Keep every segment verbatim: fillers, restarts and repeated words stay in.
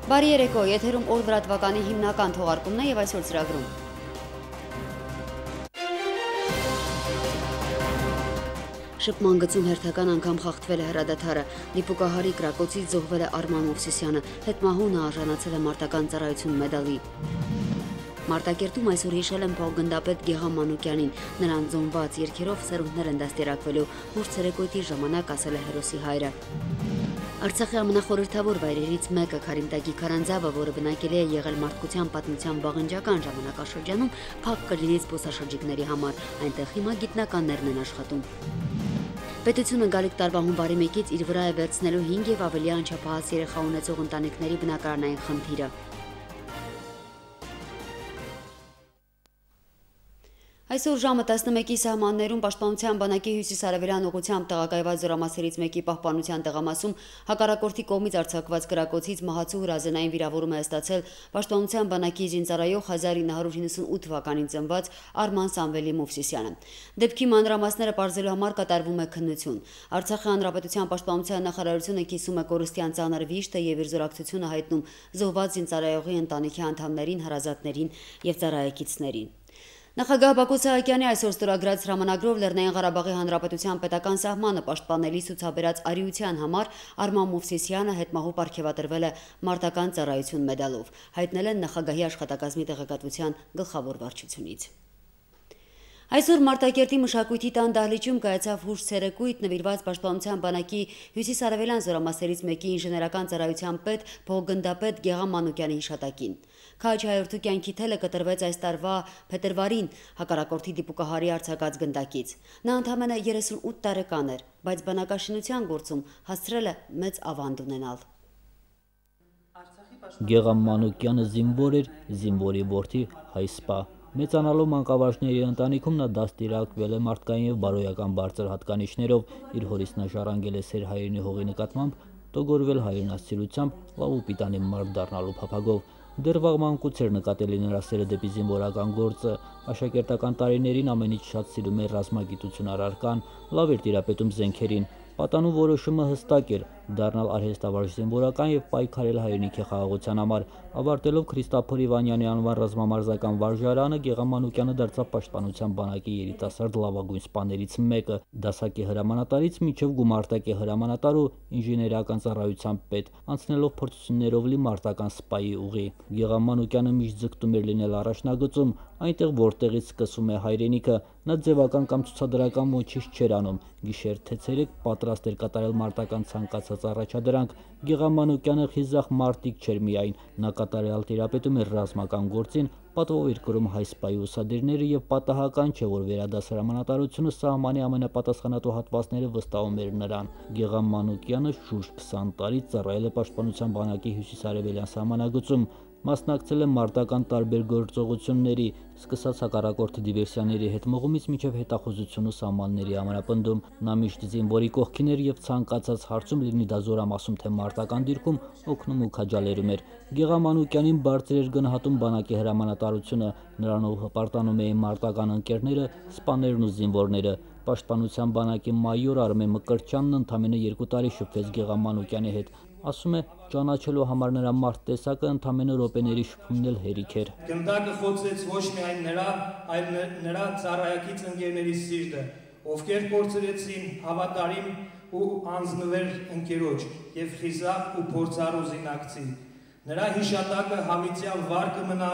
Բարի երեկո, եթերում օր լրատվականի հիմնական թողարկումն է եւ այսօր ծրագրում։ Շփման գծում հերթական անգամ խախտվել է հրադադարը, դիպուկահարի կրակոցից զոհվել է Արման Մովսիսյանը, հետմահունը արժանացել է մարտական ծառայություն մեդալի։ Մարտակերտում այսօր հիշել են փոխգնդապետ Գեգամ Մանուկյանին, նրան զոհված երգերով սերունդներ են դաստիարակվելու, հուշ ցերեկույթի ժամանակ ասել է հերոսի հայրը։ Արցախի ամենախորհրդավոր վայրերից մեկը Քարինտակի քարանձավը, որը բնակելի է եղել մարդկության պատմության վաղնջական ժամանակաշրջանում, փակ կլինի զբոսաշրջիկների համար, այնտեղ հիմա գիտնականներն են աշխատում։ Պետությունը գալիք տարվա հունվարի մեկից իր վրա է վերցնելու հինգ եւ ավելի անչափահաս երեխա ունեցող ընտանիքների բնակարանային խնդիրը։ Այսօր ժամը տասնմեկի սահմաններում Պաշտպանության բանակի հյուսիս-արևելյան ուղղությամբ տեղակայված զորամասերից մեկի պահպանության տեղամասում հակառակորդի կողմից արձակված կրակոցից մահացու հրազենային վիրավորում է ստացել Պաշտպանության բանակի զինծառայող հազար ինը հարյուր հինգսունութ թվականին ծնված Արման Սամվելի Մովսիսյանը։ Դեպքի մանրամասները պարզելու համար կատարվում է քննություն։ Արցախի հանրապետության պաշտպանության նախարարությունը կիսում է կորստյան ծանր վիշտը եւ իր զորակցությունը հայտնում զոհված զինծառայողի ընտանիքի անդամներին, հարազատներին եւ ծառայեկիցներին։ Նախագահ Բակո Սահակյանի այսօր ստորագրած հրամանագրով Լեռնային Ղարաբաղի Հանրապետության պետական սահմանը պաշտպանելի ցուցաբերած արիության համար Արման Մովսիսյանը հետմահու պարգևատրվել է մարտական ծառայություն մեդալով, հայտնել են նախագահի աշխատակազմի տեղեկատվության գլխավոր վարչությունից։ Այսօր Մարտակերտի մշակույթի տան դահլիճում կայացավ հուշ ցերեկույթ նվիրված Պաշտպանության բանակի հյուսիս-արևելյան զորամասերից մեկի ինժեներական ծառայության պետ փոխգնդապետ Գեգամ Մանուկյանի հիշատակին։ Քաջ հայորդու կյանքի թելը կտրվեց այս տարվա փետրվարին հակառակորդի դիպուկահարի արձակած գնդակից։ Նա ընդամենը երեսունութ տարեկան էր, բայց բանակաշինության գործում հասցրել է մեծ ավանդ ունենալ։ Գեգամ Մանուկյանը զինվոր էր, զինվորի որդի հայսպա։ Մեծանալու մանկավարժների ընտանիքում նա դաստիարակվել է մարդկային եւ բարոյական բարձր հատկանիշներով, իր հորից նա ժառանգել է սեր հայրենի հողի նկատմամբ, տոգորվել հայրենասիրությամբ, լավ ու պիտանի մարդ դառնալու փափագով։ Դեռ վաղ մանկուց էր նկատելի նրա սերը դեպի զինվորական գործը, աշակերտական տարիներին ամենից շատ սիրում էր ռազմագիտություն առարկան, լավ էր տիրապետում զենքերին։ Պատանու որոշումը հստակ էր՝ դառնալ արհեստավարժ զինվորական եւ պայքարել հայրենիքի խաղաղության համար։ Ավարտելով Քրիստափոր Իվանյանի անվան ռազմամարզական վարժարանը, Գեգամ Մանուկյանը դարձավ Պաշտպանության բանակի երիտասարդ լավագույն սպաներից մեկը, դասակի հրամանատարից մինչև գումարտակի հրամանատար ու ինժեներական ծառայության պետ, անցնելով փորձություններով լի մարտական սպայի ուղի։ Գեգամ Մանուկյանը միշտ ձգտում էր լինել առաջնագծում, այնտեղ որտեղից սկսում է հայրենիքը։ Նա ձևական կամ ցուցադրական ոչինչ չէր անում, գիշեր թե ցերեկ պատրաստ էր կատարել մարտական ցանկացած առաջադրանք։ Գեգամ Մանուկյանը խիզախ մարտիկ չէր միայն, նա կատարյալ տիրապետում էր ռազմական գործին, պատվով էր կրում հայսպայի ուսադիրները եւ պատահական չէ, որ վերադաս հրամանատարությունը սահմանի ամենապատասխանատու հատվածները վստահում էր նրան։ Գեգամ Մանուկյանը շուրջ քսան տարի ծառայել է Պաշտպանության բանակի հյուսիս-արևելյան սահմանագծում, մասնակցել է մարտական տարբեր գործողությունների, սկսած հակառակորդի դիվերսիաների հետ մղումից մինչև հետախուզություն ու սահմանների ամրապնդում։ Նա միշտ զինվորի կողքին էր եւ ցանկացած հարցում, լինի դա զորամասում թե մարտական դիրքում, օգնում ու քաջալերում էր։ Գեգամ Մանուկյանին բարձր էր գնահատում բանակի հրամանատարությունը, նրանով հպարտանում էին մարտական ընկերները, սպաներն ու զինվորները։ Պաշտպանության բանակի մայոր Արմեն Մկրտչյանն ընդամենը երկու տարի շփվեց Գեգամ Մանուկյանի հետ։ Ասում է, ճանաչելու համար նրա մարդ տեսակը ընդամենը րոպեների շփումն էլ հերիք էր։ Գնդակը խոցեց ոչ միայն նրա, այլ նրա ծառայակից ընկերների սիրտը, ովքեր կորցրեցին հավատարիմ ու անձնվեր ընկերոջ եւ խիզախ ու փորձառու զինակցի։ Նրա հիշատակը հավիտյան վառ կմնա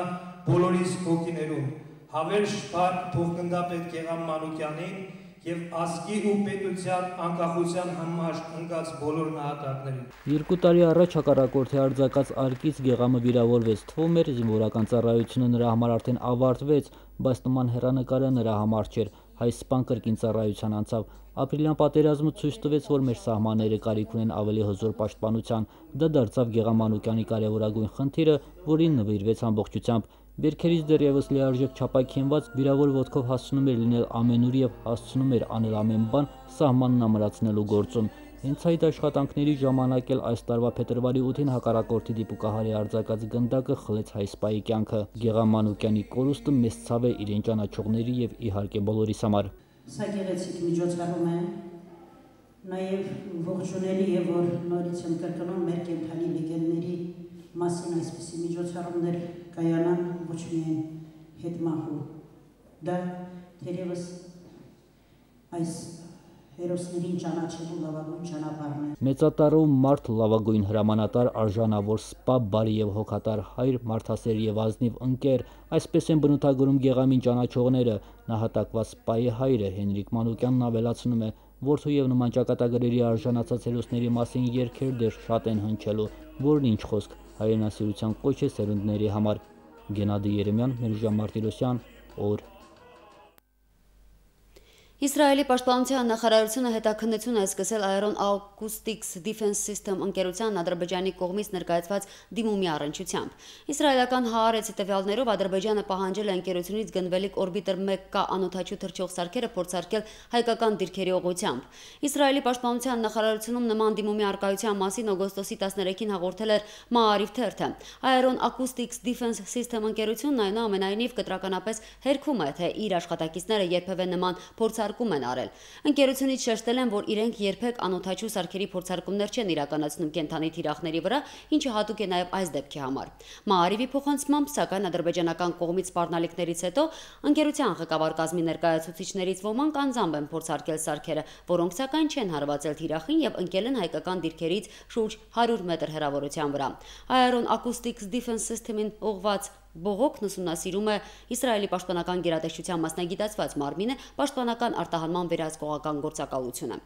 բոլորիս հոգիներում։ Հավերժ փառք փոխգնդապետ Գեգամ Մանուկյանին եւ ազգի ու պետության անկախության համար ընկած բոլոր նահատակներին։ Երկու տարի առաջ հակառակորդի արձակած արկից Գեգամը վիրավորվեց, թվում էր զինվորական ծառայությունը նրա համար արդեն ավարտվեց, բայց նման հեռանկարը նրա համար չէր։ Հայսպան կրկին ծառայության անցավ։ Ապրիլյան պատերազմը ցույց տվեց, որ մեր սահմանները կարիք ունեն ավելի հզոր պաշտպանության։ Դա դարձավ Գեգամ Մանուկյանի կարևորագույն խնդիրը, որին նվիրվեց ամբողջությամբ։ Վերքերից դեռևս լիարժեք չափակենված վիրավոր ոտքով հասցնում էր լինել ամենուր եւ հասցնում էր անել ամեն բան սահմանն ամրացնելու գործում։ Հենց այդ աշխատանքների ժամանակ էլ այս տարվա փետրվարի ութին հակառակորդի դիպուկահարի արձակած գնդակը խլեց հայսպայի կյանքը։ Գեգամ Մանուկյանի կորուստը մեծ ցավ է իրեն ճանաչողների եւ իհարկե բոլորիս համար։ Սա գեղեցիկ միջոցառում է, նաեւ ողջունելի է, որ նորից եմ կրկնում մեր կենթանի լեգենդների մասին այսպիսի միջոցառումներ կայանան ոչ միայն հետմահու, դա թերևս այս հերոսներին ճանաչելու լավագույն ճանապարհն է։ Մեծատարում մարդ լավագույն հրամանատար, արժանավոր սպա, բարի եւ հոգատար հայր, մարդասեր եւ ազնիվ ընկեր, այսպես են բնութագրում գեղամին ճանաչողները։ Նահատակված սպայի հայրը Հենրիկ Մանուկյանն ավելացնում է, որդու եւ նման ճակատագրերի արժանացած հերոսների մասին երգեր դեռ շատ են հնչելու, որն ինչ խոսք, հայրենասիրության կոչ է սերունդների համար։ Գենադի Երեմյան, Մերժան Մարտիրոսյան, օր։ Իսրայելի պաշտպանության նախարարությունը հետաքննություն է սկսել Aeron Acoustics Defense System ընկերության Ադրբեջանի կողմից ներկայացված դիմումի առնչությամբ։ Իսրայելական Հաարեցի տվյալներով Ադրբեջանը պահանջել է ընկերությունից գնվելիք օրբիտեր մեկ K անօդաչու թռչող սարքերը փորձարկել հայկական դիրքերի ուղղությամբ։ Իսրայելի պաշտպանության նախարարությունում նման դիմումի արկայության մասին օգոստոսի տասներեքին հաղորդել էր Maariv թերթը։ Aeron Acoustics Defense System ընկերությունն այնուամենայնիվ կտրականապես հերքում է, թե իր աշխատակիցները երբևէ նման փորձարկում են արել։ Ընկերությունից շեշտել են, որ իրենք երբեք անօդաչու սարքերի փորձարկումներ չեն իրականացնում կենդանի թիրախների վրա, ինչը հատուկ է նաև այս դեպքի համար։ Maariv-ի փոխանցմամբ, սակայն ադրբեջանական կողմից սպառնալիքներից հետո ընկերության ղեկավար կազմի ներկայացուցիչներից ոմանք անձամբ են փորձարկել սարքերը, որոնք սակայն չեն հարվածել թիրախին եւ ընկել են հայկական դիրքերից շուրջ հարյուր մետր հեռավորության վրա։ Aeron Acoustics Defense System-ին ուղղված բողոքն ուսումնասիրում է Իսրայելի պաշտպանական գերատեսչության մասնագիտացված մարմինը պաշտպանական արտահանման վերահսկողական գործակալությունը։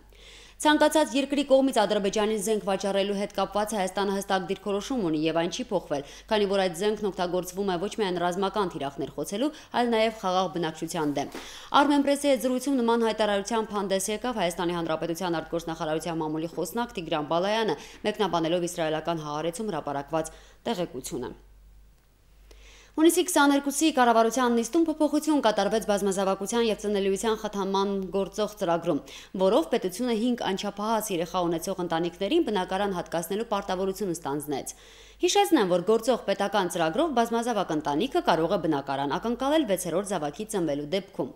Ցանկացած երկրի կողմից Ադրբեջանին զենք վաճառելու հետ կապված Հայաստանը հստակ դիրքորոշում ունի եւ այն չի փոխվել, քանի որ այդ զենքն օգտագործվում է ոչ միայն ռազմական թիրախներ խոցելու, այլ նաեւ խաղաղ բնակչության դեմ։ Armenpress-ի հետ զրույցում նման հայտարարությամբ հանդես եկավ Հայաստանի Հանրապետության արտգործնախարարության մամուլի խոսնակ Տիգրան Բալայանը, մեկնաբանելով իսրայելական Հաարեցում հրապարակված տեղեկությունը։ Հունիսի քսաներկուսի կառավարության նիստում փոփոխություն կատարվեց բազմազավակության եւ ծնելիության խթանման գործող ծրագրում, որով պետությունը հինգ անչափահաս երեխա ունեցող ընտանիքներին բնակարան հատկացնելու պարտավորություն ստանձնեց։ Հիշեցնեմ, որ գործող պետական ծրագրով բազմազավակ ընտանիքը կարող է բնակարան ակնկալել վեցերորդ զավակի ծնվելու դեպքում։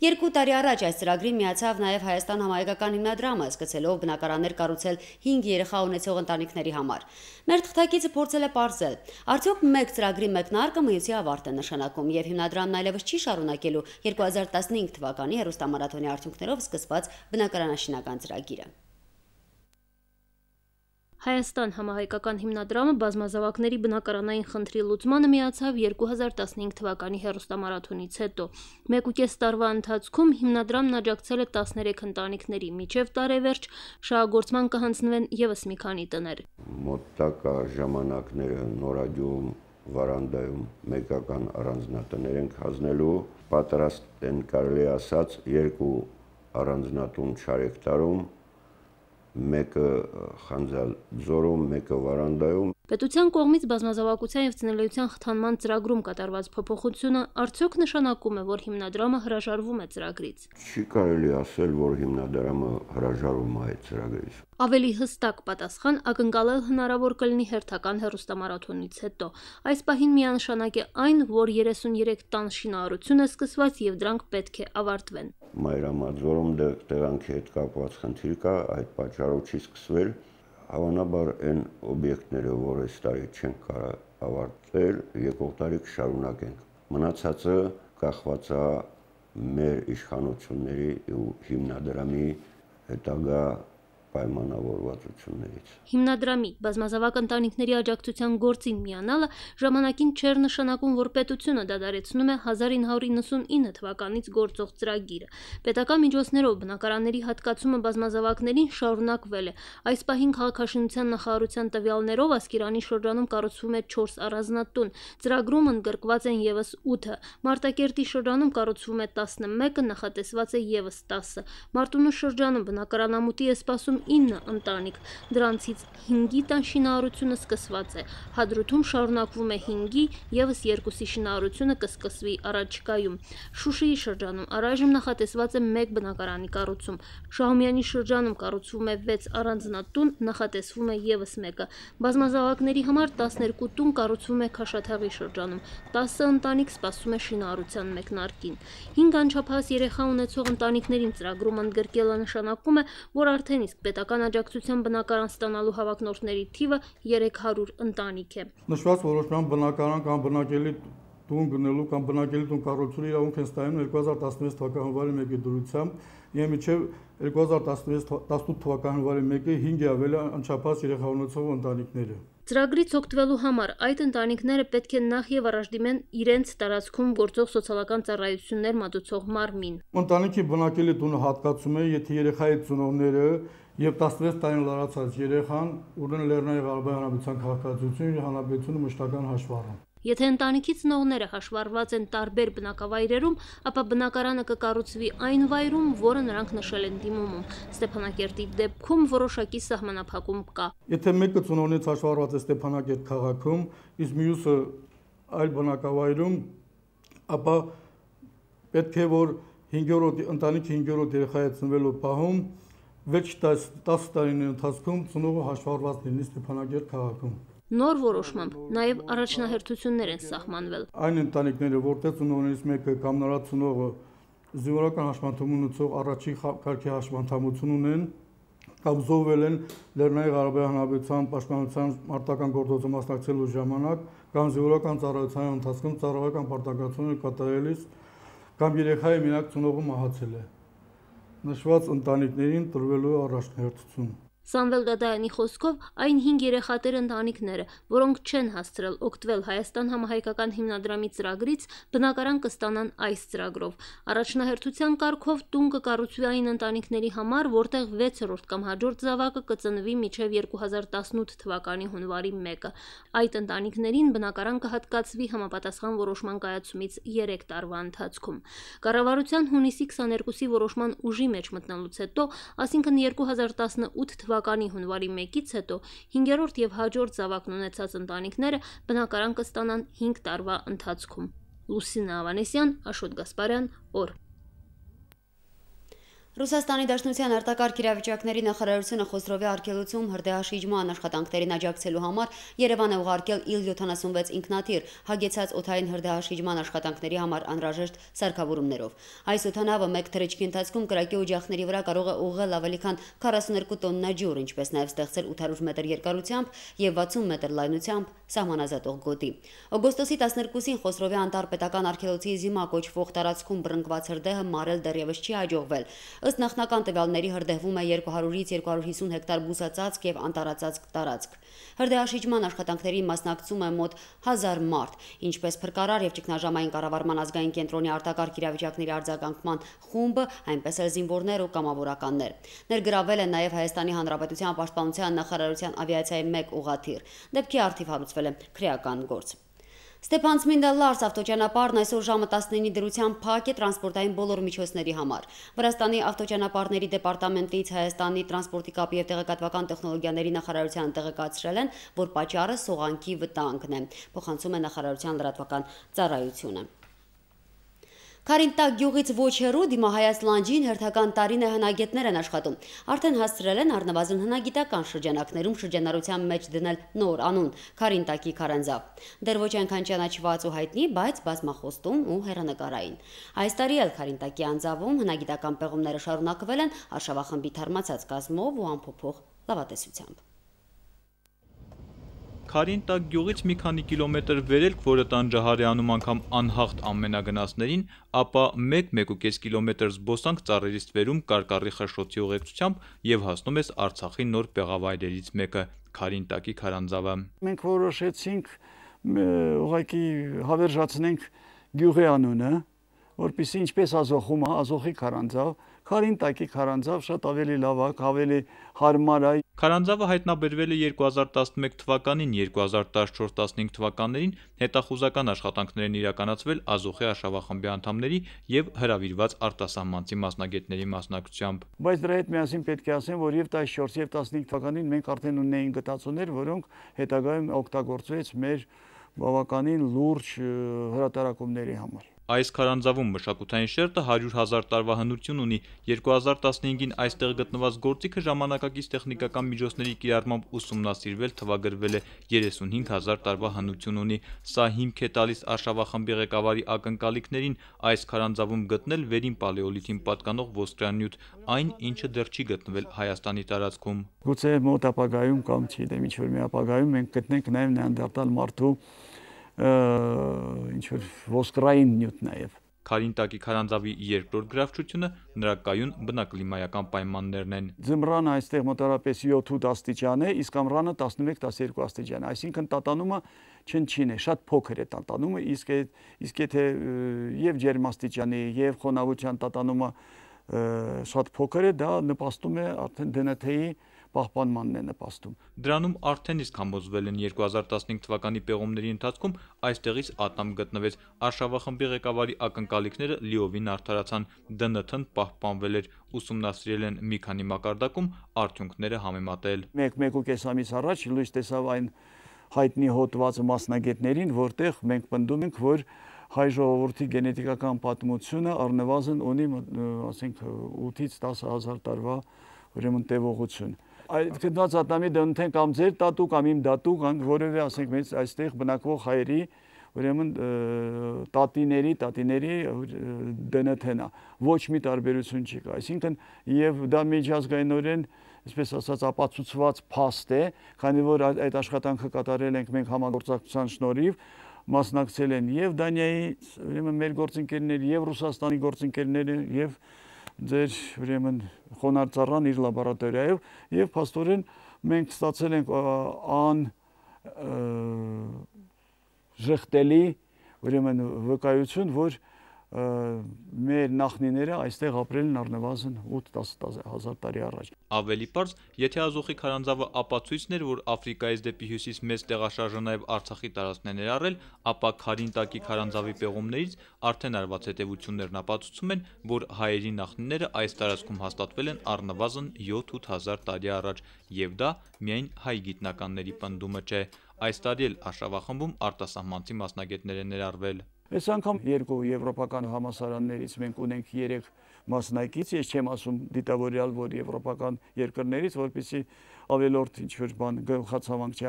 Երկու տարի առաջ այս ծրագրին միացավ նաև Հայաստան համահայկական հիմնադրամը, սկսելով բնակարաններ կառուցել հինգ երեխա ունեցող ընտանիքների համար։ Մեր թղթակիցը փորձել է պարզել, արդյոք մեկ ծրագրի մեկնարկը մյուսի ավարտ է նշանակում եւ հիմնադրամն այլևս չի շարունակելու երկու հազար տասնհինգ թվականի հերոստամարաթոնի արդյունքներով սկսված բնակարանաշինական ծրագիրը։ Հայաստան համահայկական հիմնադրամը բազմազավակների բնակարանային խնդրի լուծմանը միացավ երկու հազար տասնհինգ թվականի հերոստամարաթոնից հետո։ Մեկ ու կես տարվա ընթացքում հիմնադրամն աջակցել է տասներեք ընտանիքների, մինչև տարեվերջ շահագործման կհանձնվեն ևս մի քանի տներ։ Մոտակա ժամանակները նորագյուղում, վարանդայում մեկական առանձնատներ ենք հանձնելու, պատրաստ են կարելի ասած երկու առանձնատուն Չարեկտարում, մեկը Խանձաձորում, մեկը Վարանդայում։ Պետության կողմից բազմազավակության եւ ծնելիության խթանման ծրագրում կատարված փոփոխությունը արդյոք նշանակում է, որ հիմնադրամը հրաժարվում է ծրագրից։ Չի կարելի ասել, որ հիմնադրամը հրաժարվում է այդ ծրագրից։ Ավելի հստակ պատասխան ակնկալել հնարավոր կլինի հերթական հերոստամարաթոնից հետո։ Այս պահին միանշանակ է այն, որ երեսունյերեք տան շինարարությունը սկսված եւ դրանք պետք է ավարտվեն։ Մայրամաձորում տեղանքի հետ կապված խնդիր կա, այդ պատճառով չի սկսվել։ Հավանաբար այն օբյեկտները, որ այս տարի չենք կարող ավարտել, եկող տարի կշարունակենք։ Մնացածը կախված է մեր իշխանությունների ու հիմնադրամի հետագա պայմանավորվածություններից։ Հիմնադրամի բազմազավակ ընտանիքների աջակցության գործին միանալը ժամանակին չէր նշանակում, որ պետությունը դադարեցնում է հազար ինը հարյուր իննսունինը թվականից գործող ծրագիրը։ Պետական միջոցներով բնակարանների հատկացումը բազմազավակներին շարունակվել է։ Այս պահին քաղաքաշինության նախարարության տվյալներով Ասկերանի շրջանում կառուցվում է չորս առանձնատուն։ Ծրագրում ընդգրկված են ևս ութը։ Մարտակերտի շրջանում կառուցվում է տասնմեկը, նախատեսված է ևս տասը։ Մարտունու շրջանում բնակարանամուտի է սպասում ինը ընտանիք, դրանցից հինգի տան շինարարությունը սկսված է, Հադրութում շարունակվում է հինգի, ևս երկուսի շինարարությունը կսկսվի առաջիկայում։ Շուշիի շրջանում առայժմ նախատեսված է մեկ բնակարանի կառուցում, Շահումյանի շրջանում կառուցվում է վեց առանձնատուն, նախատեսվում է ևս մեկը, բազմազավակների համար տասներկու տուն կառուցվում է Քաշաթաղի շրջանում, տասը ընտանիք սպասում է շինարարության մեկնարկին։ Հինգ անչափահաս երեխա ունեցող ընտանիքներին ծրագրում ընդգրկելը նշանակում է, որ արդեն իսկ պետական աջակցության բնակարան ստանալու հավակնորդների թիվը երեք հարյուր ընտանիք է։ Նշված որոշման բնակարան կամ բնակելի տուն գնելու կամ բնակելի տուն կառուցելու իրավունք են ստանում երկու հազար տասնվեց թվականի հունվարի մեկի դրությամբ եւ մինչեւ երկու հազար տասնութ թվականի հունվարի մեկի հինգ ավելի անչափահաս երեխա ունեցող ընտանիքները։ Ծրագրից օգտվելու համար այդ ընտանիքները պետք է նախ եւ առաջ դիմեն իրենց տարածքում գործող սոցիալական ծառայություններ մատուցող մարմին։ Ընտանիքի բնակելի տունը հատկացում է, եթե երեխայի ծնողները եւ տասնվեց տարին լրացած երեխան ունեն Լեռնային Ղարաբաղի Հանրապետության քաղաքացիություն եւ հանրապետությունը մշտական հաշվառում։ Եթե ընտանիքի ծնողները հաշվառված են տարբեր բնակավայրերում, ապա բնակարանը կկառուցվի այն վայրում, որը նրանք նշել են դիմումում։ Ստեփանակերտի դեպքում որոշակի սահմանափակում կա։ Եթե մեկը ծնողներից հաշվառված է Ստեփանակերտ քաղաքում, իսկ մյուսը այլ բնակավայրում, ապա պետք է որ հինգերորդ ընտանիքի հինգերորդ երեխայի ծնվելու պահում վերջ տասը տարիների ընթացքում ծնողը հաշվառված լինի Ստեփանակերտ քաղաքում։ Նոր որոշմամբ նաև առաջնահերթություններ են սահմանվել։ Այն ընտանիքները, որտեղ ծնողներից մեկը կամ նրա ծնողը զինվորական հաշմանդամ ունեցող առաջին կարգի հաշմանդամություն ունեն կամ զոհվել են Լեռնային Ղարաբաղի Հանրապետության պաշտպանության մարտական գործողության մասնակցելու ժամանակ կամ զինվորական ծառայության ընթացքում ծառայական պարտականություններ կատարելիս կամ երեխայի մենակ ծնողը մահացել է։ Նշված ընտանիքներին տրվելու առաջնահերթություն։ Սամվել Դադայանի խոսքով այն հինգ երեխատեր ընտանիքները, որոնք չեն հասցրել օգտվել Հայաստան համահայկական հիմնադրամի ծրագրից, բնակարան կստանան այս ծրագրով։ Առաջնահերթության կարգով տուն կկառուցվի այն ընտանիքների համար, որտեղ վեցերորդ կամ հաջորդ զավակը կծնվի մինչև երկու հազար տասնութ թվականի հունվարի մեկը։ Այդ ընտանիքներին բնակարան կհատկացվի համապատասխան որոշման կայացումից երեք տարվա ընթացքում։ Կառավարության հունիսի քսաներկուսի որոշման ուժի մեջ մտնելուց հետո, այսինքն երկու հազար տասնութ թվականի հունվարի մեկից հետո հինգերորդ եւ հաջորդ զավակն ունեցած ընտանիքները բնակարան կստանան հինգ տարվա ընթացքում։ Լուսինա Ավանեսյան, Աշոտ Գասպարյան, օր։ Ռուսաստանի Դաշնության արտակարգ իրավիճակների նախարարությունը Խոսրովի արգելոցում հրդեհաշիջման աշխատանքներին աջակցելու համար Երևան է ուղարկել իլ յոթանասունվեց ինքնաթիռ հագեցած օդային հրդեհաշիջման աշխատանքների համար անհրաժեշտ սարքավորումներով։ Այս օդանավը մեկ թռիչքի ընթացքում կրակի օջախների վրա կարող է ուղղել ավելի քան քառասուներկու տոննա ջուր, ինչպես նաև ստեղծել ութ հարյուր մետր երկարությամբ եւ վաթսուն մետր լայնությամբ սահմանազատող գոտի։ Օգոստոսի տասներկուսին Խոսրովի անտարպետական արգելոցի Զիմա կոչվող տարածքում բռնկված հրդեհը մարել դեռևս չի հաջողվել։ Ըստ նախնական տվյալների հրդեհվում է երկու հարյուրից երկու հարյուր հիսուն հեկտար բուսածածկ եւ անտառածածկ տարածք։ Հրդեհաշիջման աշխատանքներին մասնակցում է մոտ հազար մարդ, ինչպես փրկարար եւ ճգնաժամային կառավարման ազգային կենտրոնի արտակարգ իրավիճակների արձագանքման խումբը, այնպես էլ զինվորներ ու կամավորականներ։ Ներգրավել են նաեւ Հայաստանի Հանրապետության պաշտպանության նախարարության ավիացիայի մեկ ուղղաթիռ։ Դեպքի առթիվ հարուցվել է քրեական գործ։ Ստեփանցմինդա Լարս ավտոճանապարհն այսօր ժամը տասնինի դրությամբ փակ է տրանսպորտային բոլոր միջոցների համար։ Վրաստանի ավտոճանապարհների դեպարտամենտից Հայաստանի տրանսպորտի կապի եւ տեղեկատվական տեխնոլոգիաների նախարարության տեղեկացրել են, որ պատճառը սողանքի վտանգն է, փոխանցում է նախարարության լրատվական ծառայությունը։ Քարինտակ գյուղից ոչ հեռու դիմահայաց լանջին հերթական տարին է հնագետներ են աշխատում։ Արդեն հասցրել են առնվազն հնագիտական շրջանակներում շրջանառության մեջ դնել նոր անուն՝ Քարինտակի քարանձավ։ Դեռ ոչ այնքան ճանաչված ու հայտնի, բայց բազմախոստում ու հեռանկարային։ Այս տարի էլ Քարինտակի անձավում հնագիտական պեղումները շարունակվել են արշավախմբի թարմացած կազմով ու ամփոփող լավատեսությամբ։ Քարինտակ գյուղից մի քանի կիլոմետր վերելք, որը տանջահարյանում անգամ անհաղթ ամենագնացներին, ապա մեկ-մեկուկես կիլոմետր զբոսանք ծառերից վերում կարկառի խշշոցի ուղեկցությամբ եւ հասնում ես Արցախի նոր պեղավայրերից մեկը՝ Քարինտակի քարանձավը։ Մենք որոշեցինք ուղղակի հավերժացնենք գյուղի անունը, որպեսզի ինչպես Ազոխում է, Ազոխի քարանձավ, Քարինտակի քարանձավ շատ ավելի լավ է, ավելի հարմար է։ Քարանձավը հայտնաբերվել է երկու հազար տասնմեկ թվականին, երկու հազար տասնչորս տասնհինգ թվականներին հետախուզական աշխատանքներ են իրականացվել Ազոխի արշավախմբի անդամների եւ հրավիրված արտասահմանցի մասնագետների մասնակցությամբ։ Բայց դրա հետ միասին պետք է ասեմ, որ եւ տասնչորս եւ տասնհինգ թվականին մենք արդեն ունեինք գտածոներ, որոնք հետագայում օգտագործվեց մեր բավականին լուրջ հրատարակումների համար։ Այս քարանձավում մշակութային շերտը հարյուր հազար տարվա հնություն ունի, երկու հազար տասնհինգին այստեղ գտնված գործիքը ժամանակակից տեխնիկական միջոցների կիրառմամբ ուսումնասիրվել թվագրվել է երեսունհինգ հազար տարվա հնություն ունի, սա հիմք է տալիս Արշավախմբի ղեկավարի ակնկալիքներին այս քարանձավում գտնել վերին պալեոլիթին պատկանող ոսկրանյութ, այն ինչը դեռ չի գտնվել Հայաստանի տարածքում։ Գուցե մոտ ապագայում կամ չգիտեմ ինչ որ մի ապագայում մենք գտնենք նաև նեանդերտալ մարդու ինչ որ ոսկրային նյութ նաև։ Քարինտակի քարանձավի երկրորդ գրավչությունը նրա կայուն բնակլիմայական պայմաններն են։ Ձմռանը այստեղ մոտավորապես յոթ-ութ աստիճան է, իսկ ամռանը տասնմեկ տասներկու աստիճան է, այսինքն տատանումը չնչին է, շատ փոքր է տատանումը, իսկ իսկ եթե եւ ջերմաստիճանի եւ խոնավության տատանումը շատ փոքր է, դա նպաստում է արդեն դեն էթ-ի պահպանմանն է նպաստում։ Դրանում արդեն իսկ համոզվել են երկու հազար տասնհինգ թվականի պեղումների ընթացքում այստեղից ատամ գտնվեց, Արշավախմբի ղեկավարի ակնկալիքները լիովին արդարացան, դեն էթ-ն պահպանվել էր, ուսումնասիրել են մի քանի մակարդակում, արդյունքները համեմատել։ Մեկ-մեկուկես ամիս առաջ լույս տեսավ այն հայտնի հոդվածը մասնագետներին, որտեղ մենք պնդում ենք, որ հայ ժողովրդի գենետիկական պատմությունը առնվազն ունի, ասենք, ութից տասը հազար տարվա ուրեմն տևողություն։ Այդ գտնված ատամի դեն կամ ձեր տատու կամ իմ դատու կամ որևէ, ասենք, մեծ այստեղ բնակվող հայերի ուրեմն տատիների, տատիների դեն էթ-ն է, ոչ մի տարբերություն չի կա, այսինքն եւ դա միջազգայինորեն, այսպես ասած, ապացուցված փաստ է, քանի որ այդ աշխատանքը կատարել ենք մենք համագործակցության շնորհիվ, մասնակցել են եւ Դանիայի ուրեմն մեր գործընկերներ, եւ Ռուսաստանի գործընկերները, եւ ձեր ուրեմն խոնարհծառան իր լաբորատորիայով, եւ փաստորեն մենք ստացել ենք ան ժխտելի ուրեմն վկայություն, որ մեր նախնիները այստեղ ապրել են առնվազն ութ-տասը հազար տարի առաջ։ Ավելի պարզ, եթե Ազոխի քարանձավը ապացույցն էր, որ Աֆրիկայից դեպի հյուսիս մեծ տեղաշարժը նաև Արցախի տարածքն է ներառել, ապա Քարինտակի քարանձավի պեղումներից արդեն արված հետևություններն ապացուցում են, որ հայերի նախնիները այս տարածքում հաստատվել են առնվազն յոթ-ութ հազար տարի առաջ, եւ դա միայն հայ գիտնականների պնդումը չէ։ Այս տարի էլ Արշավախմբում արտասահմանցի մասնագետներ են ներառվել։ Այս անգամ երկու եվրոպական համալսարաններից մենք ունենք երեք մասնակից, ես չեմ ասում դիտավորյալ, որ եվրոպական երկրներից, որպեսզի ավելորդ ինչ-որ բան գլխացավանք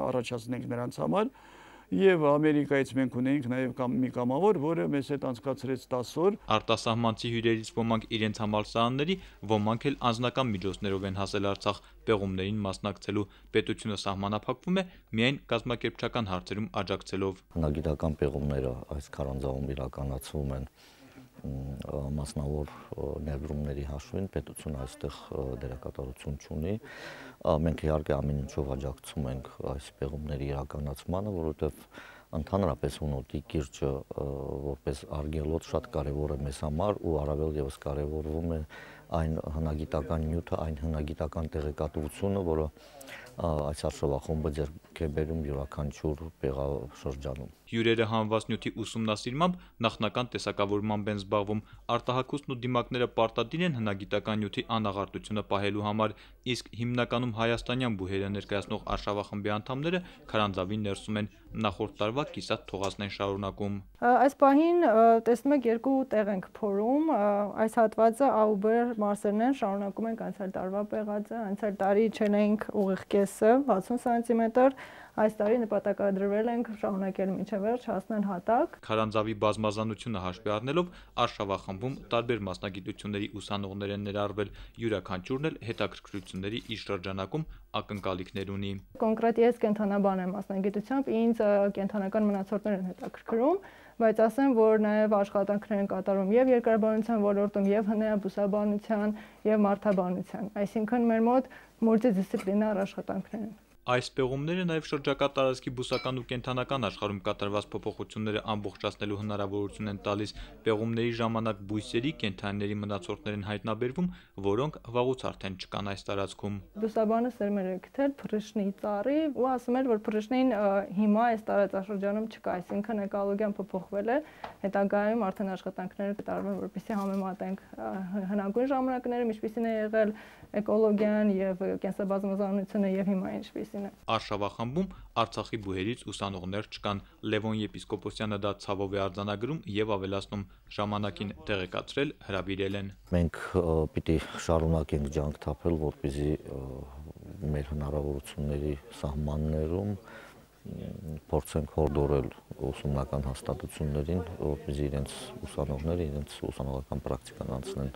առաջացնենք նրանց համար, եւ Ամերիկայից մենք ունենք նաեւ կամ մի կամավոր, որը մեզ հետ անցկացրեց տասը օր։ Արտասահմանցի հյուրերից ոմանք իրենց համալսարանների, ոմանք էլ անձնական միջոցներով են հասել Արցախ պեղումներին մասնակցելու, պետությունը սահմանափակվում է միայն կազմակերպչական հարցերում աջակցելով։ Հնագիտական պեղումները այս քարանձավում իրականացվում են մասնավոր ներդրումների հաշվին, պետությունը այստեղ դերակատարություն չունի, մենք իհարկե ամեն ինչով աջակցում ենք այս պեղումների իրականացմանը, որովհետև ընդհանրապես հունոտի կիրճը որպես արգելոց շատ կարևոր է մեզ համար ու առավել եւս կարևորվում է այն հնագիտական նյութը, այն հնագիտական տեղեկատվությունը, որը այս Արշավախումբը ձեռք է բերում յուրաքանչյուր պեղաշրջանում։ Հյուրերը հանված նյութի ուսումնասիրմամբ նախնական տեսակավորմամբ են զբաղվում, արտահայտությունն ու դիմակները պարտադիր են հնագիտական նյութի անաղարտությունը պահելու համար, իսկ հիմնականում հայաստանյան բուհերը ներկայացնող Արշավախմբի անդամները քարանձավի ներսում են, նախորդ տարվա կիսատ թողածն են շարունակում։ Այս պահին տեսնում եք երկու տեղ ենք փորում, այս հատվածը Աուբեր մարսերն են, շարունակում ենք անցյալ տարվա պեղածը, անցյալ տարի չենք ուղիղ կեսը վաթսուն սանտիմետր, այս տարի նպատակադրվել ենք շարունակել մինչև վերջ հասնել հատակ։ Քարանձավի բազմազանությունը հաշվի առնելով Արշավախմբում տարբեր մասնագիտությունների ուսանողներ են ներառվել, յուրաքանչյուրն էլ հետաքրքրությունների իր շրջանակում ակնկալիքներ ունի։ Կոնկրետ ես կենթանաբան եմ մասնագիտությամբ, ինձ կենթանական մնացորդներ են հետաքրքրում, բայց ասեմ, որ նաև աշխատանքներ են կատարում եւ երկրաբանության ոլորտում, եւ հնեաբուսաբանության, եւ մարդաբանության, այսինքն մեր մոտ մուլտիդիսցիպլինար աշխատանքներ են։ Այս պեղումները նաև շրջակա տարածքի բուսական ու կենդանական աշխարհում կատարված փոփոխությունները ամբողջացնելու հնարավորություն են տալիս։ Պեղումների ժամանակ բույսերի, կենդանիների մնացորդներ են հայտնաբերվում, որոնք վաղուց արդեն չկան այս տարածքում։ Բուսաբանը սերմեր է գտել փռշնի ծառի ու ասում էր, որ փռշնին հիմա այս տարածաշրջանում չկա, այսինքն էկոլոգիան փոփոխվել է, հետագայում արդեն աշխատանքներ կատարվեն, որպեսզի համեմատենք հնագույն ժամանակները ինչպիսին է եղել էկոլոգիան եւ կենսաբազմազանությունը եւ հիմա ինչպիսին մասին է։ Արշավախմբում Արցախի բուհերից ուսանողներ չկան։ Լևոն Եպիսկոպոսյանը դա ցավով է արձանագրում եւ ավելացնում, ժամանակին տեղեկացրել, հրավիրել են։ Մենք պիտի շարունակենք ջանք թափել, որպեսզի մեր հնարավորությունների սահմաններում փորձենք հորդորել ուսումնական հաստատություններին, որպեսզի իրենց ուսանողները իրենց ուսանողական պրակտիկան անցնեն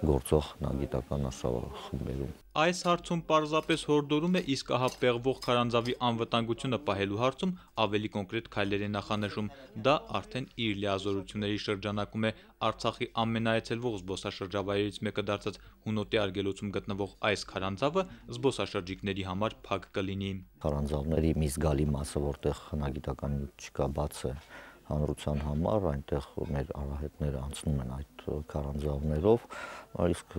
գործող հնագիտական արշավախմբերում։ Այս հարցում պարզապես հորդորում է, իսկ ահա պեղվող քարանձավի անվտանգությունը պահելու հարցում ավելի կոնկրետ քայլեր է նախանշում։ Դա արդեն իր լիազորությունների շրջանակում է Արցախի ամենաայցելվող զբոսաշրջավայրերից մեկը դարձած Հունոտի արգելոցում գտնվող այս քարանձավը զբոսաշրջիկների համար փակ կլինի։ Քարանձավների մի զգալի մասը, որտեղ հնագիտական նյութ չկա, բաց է հանրության համար, այնտեղ մեր արահետները անցնում են այդ քարանձավներով, իսկ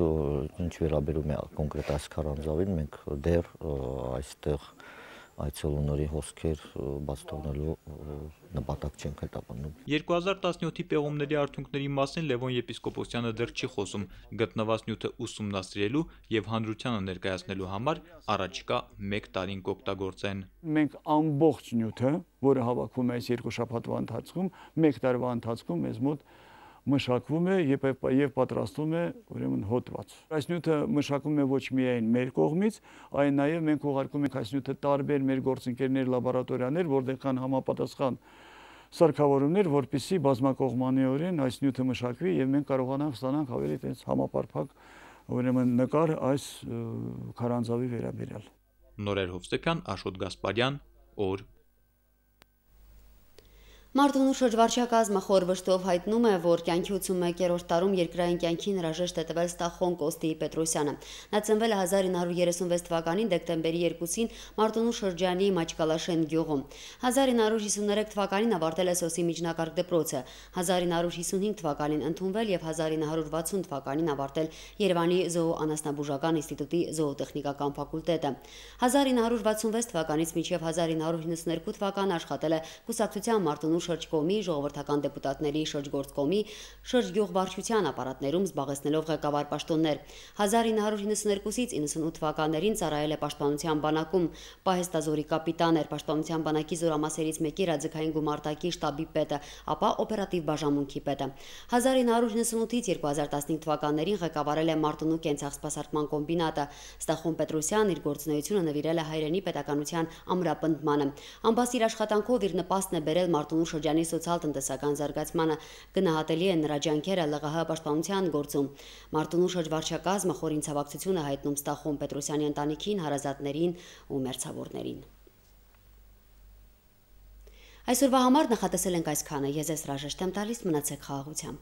ինչ վերաբերում է կոնկրետ այս քարանձավին, մենք դեռ այստեղ այցելուների հոսքեր բաց թողնելու նպատակ չենք հետապնդում։ երկու հազար տասնյոթի պեղումների արդյունքների մասին Լևոն Եպիսկոպոսյանը դեռ չի խոսում, գտնված նյութը ուսումնասիրելու եւ հանրությանը ներկայացնելու համար առաջիկա մեկ տարին կօգտագործեն։ Մենք ամբողջ նյութը, որը հավաքվում է այս երկու շաբաթվա ընթացքում, մեկ տարվա ընթացքում մեզ մոտ մշակվում է եւ եւ պատրաստվում է ուրեմն հոդված։ Այս նյութը մշակվում է ոչ միայն մեր կողմից, այլ նաեւ մենք ուղարկում ենք այս նյութը տարբեր մեր գործընկերներ լաբորատորիաներ, որտեղ կան համապատասխան սարքավորումներ, որպեսզի բազմակողմանիորեն այս նյութը մշակվի եւ մենք կարողանանք ստանանք ավելի տես համապարփակ ուրեմն նկար այս քարանձավի վերաբերյալ։ Նորեր Հովսեփյան, Աշոտ Գասպարյան, օր Մարտունու շրջվարչակազմը խոր վշտով հայտնում է, որ կյանքի ութսունմեկերորդ տարում երկրային կյանքին հրաժեշտ է տվել Ստախոն Կոստի Պետրոսյանը։ Նա ծնվել է հազար ինը հարյուր երեսունվեց թվականին դեկտեմբերի երկուսին Մարտունու շրջանի Մաչկալաշեն գյուղում։ հազար ինը հարյուր հիսուներեք թվականին ավարտել է Սոսի միջնակարգ դպրոցը, հազար ինը հարյուր հիսունհինգ թվականին ընդունվել եւ հազար ինը հարյուր վաթսուն թվականին ավարտել Երևանի զոոանասնաբուժական ինստիտուտի զոոտեխնիկական ֆակուլտետը։ հազար ինը հարյուր վաթսունվեց թվականից մինչև հազար ինը հարյուր իննսուներկու թվական աշխատել է կուսակցության Մարտունու շրջկոմի, ժողովրդական դեպուտատների շրջգործկոմի, շրջգյուղվարչության ապարատներում զբաղեցնելով ղեկավար պաշտոններ։ հազար ինը հարյուր իննսուներկուսից իննսունութ թվականներին ծառայել է պաշտպանության բանակում, պահեստազորի կապիտան էր, պաշտպանության բանակի զորամասերից մեկի ռադիկային գումարտակի շտաբի պետը, ապա օպերատիվ բաժանմունքի պետը։ հազար ինը հարյուր իննսունութից երկու հազար տասնհինգ թվականներին ղեկավարել է Մարտունու կենցաղսպասարկման կոմբինատը։ Ստախոն Պետրոսյանն իր գործունեությունը նվիրել է հայրենի պետականության ամրապնդմանը։ Ամբասիր աշխատանքով իր նպաստն է բերել Մարտունու շրջանի սոցիալ-տնտեսական զարգացմանը, գնահատելի է նրա ջանքերը ԼՂՀ պաշտպանության գործում։ Մարտունու շրջվարչակազմը խորին ցավակցություն է հայտնում Ստախոն Պետրոսյանի ընտանիքին, հարազատներին ու մերձավորներին։ Այսօրվա համար նախատեսել ենք այսքանը։ Ես ես հրաժեշտ եմ տալիս, մնացեք խաղաղությամբ։